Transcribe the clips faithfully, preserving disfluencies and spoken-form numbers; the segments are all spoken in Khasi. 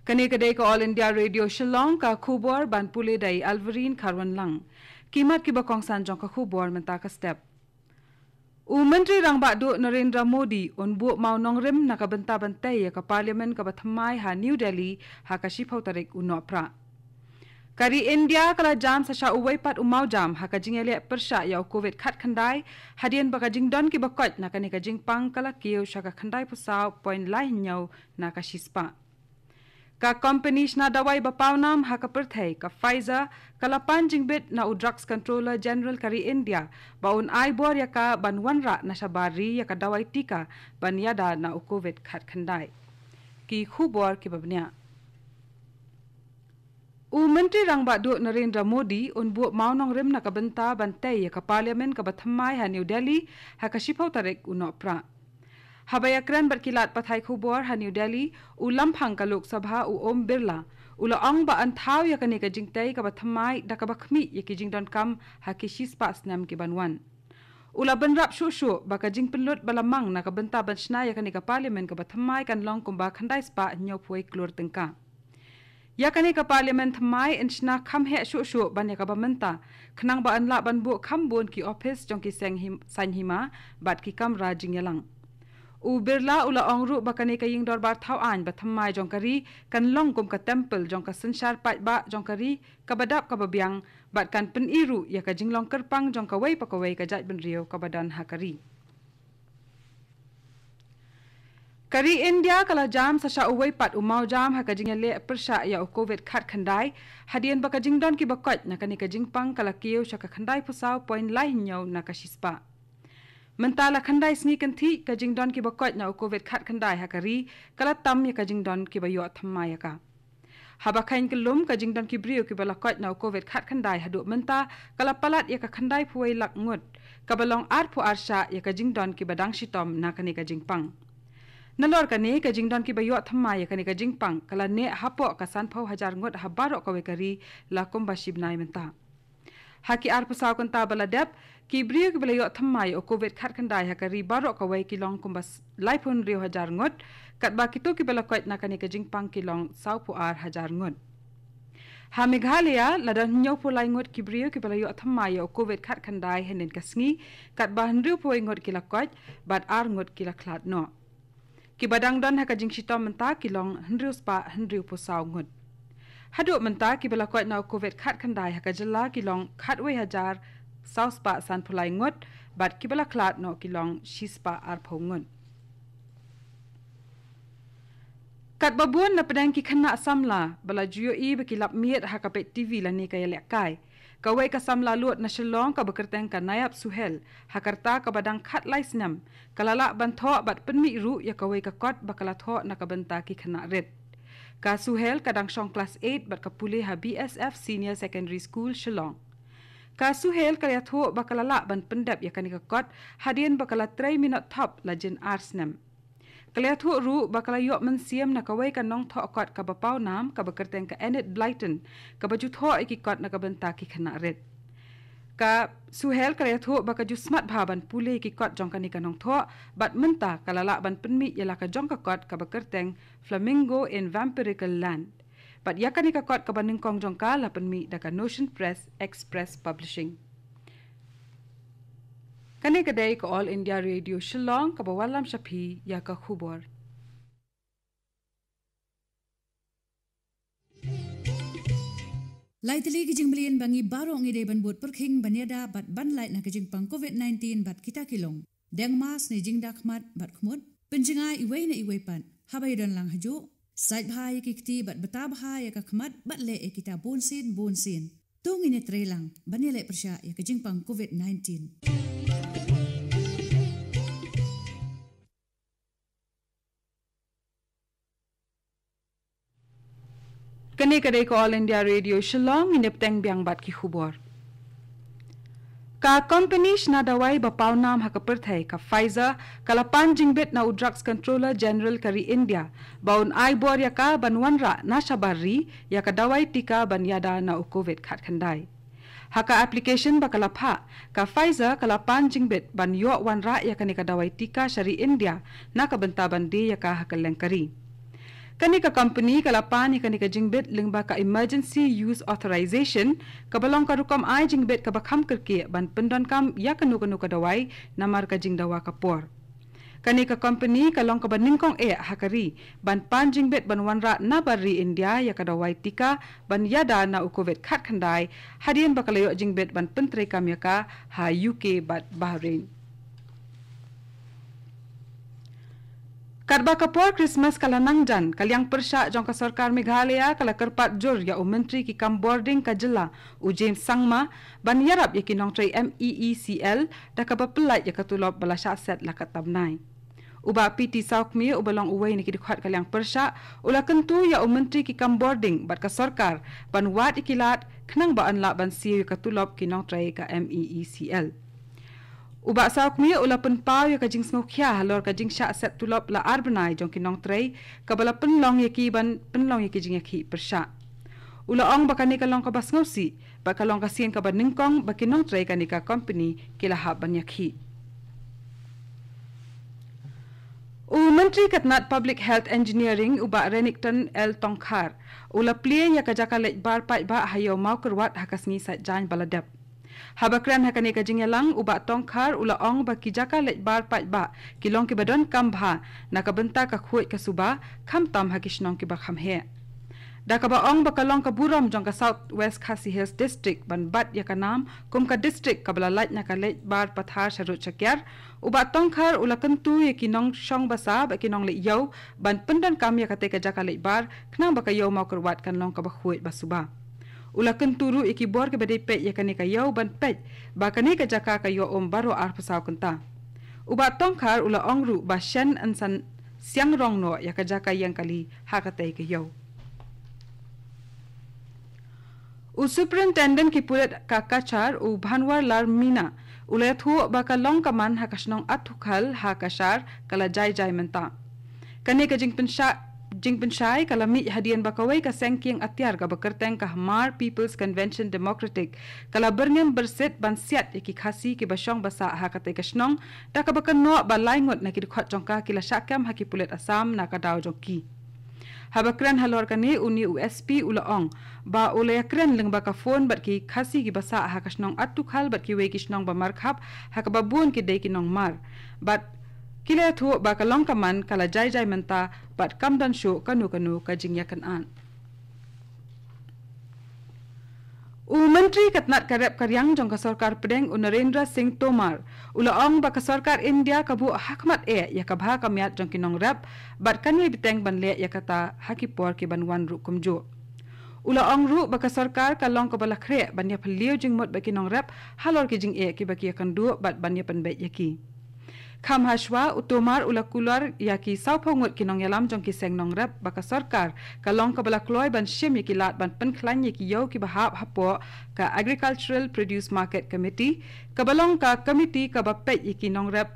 Kane ka dei ka All India Radio Shillong, ka khubor ban pule da i Alverine Kharwanlang. Ki mat kiba kongsan jong ka khubor mynta ka step. U Myntri Rangbah Duh Narendra Modi un buh mawnongrim na ka bynta ban tei ïa ka Parliament kaba thymmai ha New Delhi ha ka shiphew tarik u Nohprah. Ka ri India ka la jam sa sha uwei pat u mawjam ha ka jingïaleh pyrshah ïa u Covid khatkhyndai, hadien ba ka jingdon kiba koit na kane ka jingpang ka la kiew sha ka khyndaiphew saw point lai hynñiew na ka shispah. Ka kompani shna dawai ba pawnam ha ka pyrthei ka Pfizer ka la pan jingbit na u Drugs Controller General ka ri India ba un ai bor ïa ka ban wanrah na shabar ri ïa ka dawai tika ban ïada na u Covid khatkhyndai. Ki khubor kiba bniah. U Myntri Rangbah Duh Narendra Modi un buh mawnongrim na ka bynta ban tei ïa ka Parliament kaba thymmai ha New Delhi ha ka shiphew tarik u Nohprah. Haba ïakren bad ki lad pathai khubor ha New Delhi, u Lamphang ka Lok Sabha u Om Birla u la ong ba yn thaw ïa kane ka jingtei kaba thymmai da kaba khmih ïa ki jingdonkam ha ki shispah snem ki ban wan. U la bynrap shuh shuh ba ka jingpynlut ba la mang na ka bynta ban shna ïa kane ka Parliament kaba thymmai kan long kumba khyndai spah hynñiewphew klur tyngka. Ïa kane ka Parliament thymmai yn shna kham heh shuh shuh ban ïa kaba mynta, khnang ba yn lah ban buh kham bun ki ophis jong ki seng him, saiñ hima bad ki kamra jingïalang. U Birla u la ong ruh ba kane ka ïing dorbar thaw aiñ ba thymmai jong ka ri kan long kum ka temple jong ka synshar paidbah jong ka ri kaba dap kaba biang bad kan pyni ruh ïa ka jinglong kyrpang jong kawei pa kawei ka jaitbynriew kaba don ha ka ri. Ka ri India ka la jam sa sha uwei pat u mawjam ha ka jingïaleh pyrshah ïa u Covid khatkhyndai, hadien ba ka jingdon kiba koit na kane ka jingpang ka la kiew sha ka khyndaiphew saw point lai hynñiew na ka shispah. Mynta la khyndai sngi kynthih ka jingdon kiba koit na u Covid khatkhyndai ha ka ri ka la tam ïa ka jingdon kiba ïoh thymmai ïa ka. Haba kheiñ kyllum ka jingdon ki briew kiba la koit na u Covid khatkhyndai haduh mynta ka la palat ïa ka khyndaiphew wei lak ngut, kaba long arphew ar shah ïa ka jingdon kiba dang shitom na kane ka jingpang. Nalor kane ka jingdon kiba ïoh thymmai ïa kane ka jingpang ka la neh hapoh ka sanphew hajar ngut ha baroh kawei ka ri la kumba shi bnai mynta. Ha ki arphew saw kynta ba la dep, ki briew kiba la ïoh thymmai ïa u Covid khatkhyndai ha ka ri baroh kawei ki long kumba s-, laiphew hynriew hajar ngut, katba kito kiba la koit na kane ka jingpang ki long sawphew ar hajar ngut. Ha Meghalaya, la don hynñiewphew lai ngut ki briew kiba la ïoh thymmai ïa u Covid khatkhyndai hynnin ka sngi, katba hynriewphew wei ngut ki la koit, bad ar ngut ki la khlad noh. Kiba dang don ha ka jingshitom mynta ki long hynriew spah hynriewphew saw ngut. Haduh mynta kiba la koit na u Covid khatkhyndai ha ka jylla ki long khatwei hajar saw spah sanphew lai ngut, bad kiba la khlad noh ki long shi spah arphew ngut. Katba bun na pdeng ki khynnah samla ba la ju ïohi ba ki lap miet ha ka peit TV lane ka ïalehkai, kawei ka samla lud na Shillong kaba kyrteng ka Nayab Suhel, ha ka rta kaba dang khatlai snem, ka la lah ban thoh bad pynmih ruh ïa kawei ka kot ba ka la thoh na ka bynta ki khynnah rit. Ka Suhel ka dang shong klas eight bad ka pule ha BSF Senior Secondary School Shillong. Ka Suhel ka la ïathuh ba ka la lah ban pyndep ïa kane ka kot hadien ba ka la trei minot thop la jin ar snem. Ka la ïathuh ruh ba ka la ïoh mynsiem na kawei ka nongthoh kot kaba pawnam kaba kyrteng ka Enid Blyton, kaba ju thoh ïa ki kot na ka bynta ki khynnah rit. Ka Suhel ka la ïathuh ba ka ju smat bha ban pule ïa ki kot jong kane ka nongthoh, bad mynta ka la lah ban pynmih ïa la ka jong ka kot kaba kyrteng Flamingo in Vampirical Land. Bad ïa kane ka kot kaba nyngkong jong ka la pynmih da ka Notion Press Express Publishing. Kane ka dei ka All India Radio Shillong kaba wallam sha phi ïa ka khubor. Lai tylli ki jingmlien ba ngi baroh ngi dei ban bud pyrkhing ban ïada bad ban lait na ka jingpang Covid nineteen bad kita ki long: deng mask ne jingda khmat bad khmut, pynjngai iwei na iwei pat haba ïadon lang hajuh, sait bha ïa ki kti bad bta bha ïa ka khmat bad leh ïa kita bunsien bunsien. To ngin ïatreilang ban ïaleh pyrshah ïa ka jingpang Covid nineteen. Kane ka dei ka All India Radio Shillong, ngin ïa bteng biang bad ki khubor. Ka kompani shna dawai ba pawnam ha ka pyrthei ka Pfizer ka la pan jingbit na u Drugs Controller General ka ri India ba un ai bor ïa ka ban wanrah na shabar ri ïa ka dawai tika ban ïada na u Covid khatkhyndai. Ha ka application ba ka la phah, ka Pfizer ka la pan jingbit ban ïoh wanrah ïa kane ka dawai tika sha ri India na ka bynta ban die ïa ka ha kylleng ka ri. Kane ka company ka la pan ïa kane ka jingbit lyngba ka Emergency Use Authorization, kaba long ka rukom ai jingbit kaba kham kyrkieh ban pyndonkam ïa kano kano ka dawai namar ka jingdawa ka por. Kane ka company ka long kaba nyngkong eh ha ka ri ban pan jingbit ban wanrah na bar ri India ïa ka dawai tika ban ïada na u Covid khatkhyndai, hadien ba ka la ïoh jingbit ban pyntreikam ïa ka ha U K bad Bahrain. Katba ka por Christmas ka la nang jan, ka liang pyrshah jong ka sorkar Meghalaya ka la kyrpad jur ïa u Myntri ki kam bording ka jylla, u James Sangma, ban ïarap ïa ki nongtrei M E E C L da kaba pyllait ïa ka tulop ba la shah set la ka tam nai. U Bah P T Sawkmie, uba long uwei na ki dkhot ka liang pyrshah, u la kyntu ïa u Myntri ki kam bording bad ka sorkar ban wad ïa ki lad khnang ba yn lah ban siew ïa ka tulop ki nongtrei ka M E E C L. U Bah Sawkmie u la pynpaw ïa ka jingsngewkhia halor ka jingshah set tulop la ar bnai jong ki nongtrei, kaba la pynlong ïa ki ban pynlong ïa ki jingïakhih pyrshah. U la ong ba kane ka long kaba sngewsih, ba ka long ka sien kaba nyngkong ba ki nongtrei kane ka company ki la hap ban ïakhih. U Myntri ka tnat Public Health Engineering, u Bah Renikton L Tongkhar, u la plie ïa ka jaka leit bar paidbah ha Ïew Mawkyrwat ha ka sngi Saitjaiñ ba la dep. Haba kren ha kane ka jingïalang, u Bah Tongkhar u la ong ba ki jaka leit bar paidbah ki long kiba donkam bha na ka bynta ka khuid ka suba, khamtam ha ki shnong kiba kham heh. Da kaba ong ba ka long ka burom jong ka South West Khasi Hills District ban bat ïa ka nam kum ka district kaba la lait na ka leit bar pathar sharud shakiar, u Bah Tongkhar u la kyntu ïa ki nongshong basa bad ki nongleit ïew ban pyndonkam ïa katei ka jaka leit bar khnang ba ka Ïew Mawkyrwat kan long kaba khuid ba suba. U la kyntu ruh ïa ki bor kiba dei peit ïa kane ka ïew ban peit ba kane ka jaka ka ïoh um baroh arphew saw kynta. U Bah Tongkhar u la ong ruh ba shen yn sa siang rong noh ïa ka jaka ïeng kali ha katei ka ïew. U Superintendent ki pulit ka Cachar, u Bhanwarlal Meena, u la ïathuh ba ka long ka man ha ka shnong Athukhal ha Cachar ka la jai jai mynta. Kane ka jingpynshai, jingpynshai ka la mih hadien ba kawei ka seng kieng atiar kaba kyrteng ka Hmar People's Convention Democratic ka la byrngem byrsit ban siat ïa ki Khasi kiba shong basa ha katei ka shnong, da kaba kynnoh ba lai ngut na ki dkhot jong ka ki la shah kem ha ki pulit Assam na ka daw jong ki. Haba kren halor kane, une u S P u la ong ba u la ïakren lyngba ka phone bad ki Khasi kiba sah ha ka shnong Attukhal bad kiwei ki shnong ba markhap, ha kaba bun ki dei ki nongmar. Bad ki la ïathuh ba ka long ka man ka la jai jai mynta bad kam don shuh kano kano ka jingïakynad. U Myntri ka tnat ka rep ka riang jong ka sorkar pdeng, u Narendra Singh Tomar, u la ong ba ka sorkar India ka buh hakhmat eh ïa ka bha ka miat jong ki nongrep bad kan ïai bteng ban leh ïa kata ha ki por ki ban wan ruh kumjuh. U la ong ruh ba ka sorkar ka long kaba la khreh ban ïaphylliew jingmut bad ki nongrep halor ki jingeh kiba ki ïakynduh bad ban ïapynbeit ïa ki. Kham hashwa, u Tomar u la kular ïa ki sawphew ngut ki nongïalam jong ki seng nongrep ba ka sorkar ka long kaba la kloi ban shim ïa ki lad ban pynkhlaiñ ïa ki ïew kiba hap hapoh ka Agricultural Produce Market Committee, kaba long ka komiti kaba peit ïa ki nongrep,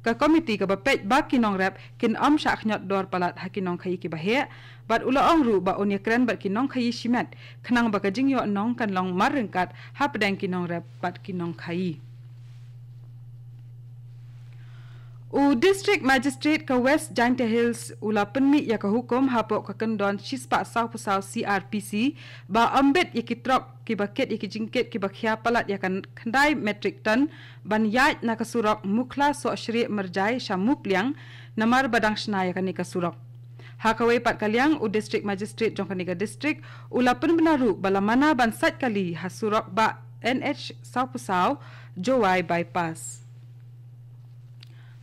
ka komiti kaba peit ba ki nongrep kin ym shah khñiot dor palat ha ki nongkhaïi kiba heh, bad u la ong ruh ba un ïakren bad ki nongkhaïi shimet khnang ba ka jingïoh nong kan long marryngkat hapdeng ki nongrep bad ki nongkhaïi. U District Magistrate ka West Jaintia Hills u la pynmih ïa ka hukum hapoh ka kyndon shispah sawphew saw C R P C ba ym bit ïa ki trok kiba kit ïa ki jingkit kiba khia palat ïa ka khyndai metric ton ban ïaid na ka surok Mukhla Sohshrieh Myrjai sha Mupliang, namar ba dang shna ïa kane ka surok. Ha kawei pat ka liang, u District Magistrate jong kane ka district u la pynbna ruh ba la mana ban sait kali ha surok bah N H sawphew saw Jowai Bypass.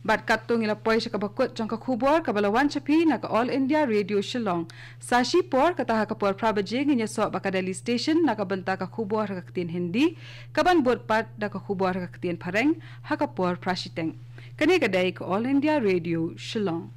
Bad katto ngi la poi sha kaba kut jong ka khubor kaba la wan sha phi na ka All India Radio Shillong. Sa shipor, kata ha ka por phra baje, ngin ïasoh bad ka Delhi Station na ka bynta ka khubor ha ka ktien Hindi, kaban bud pat da ka khubor ha ka ktien Phareng ha ka por phra shiteng. Kane ka dei ka All India Radio Shillong.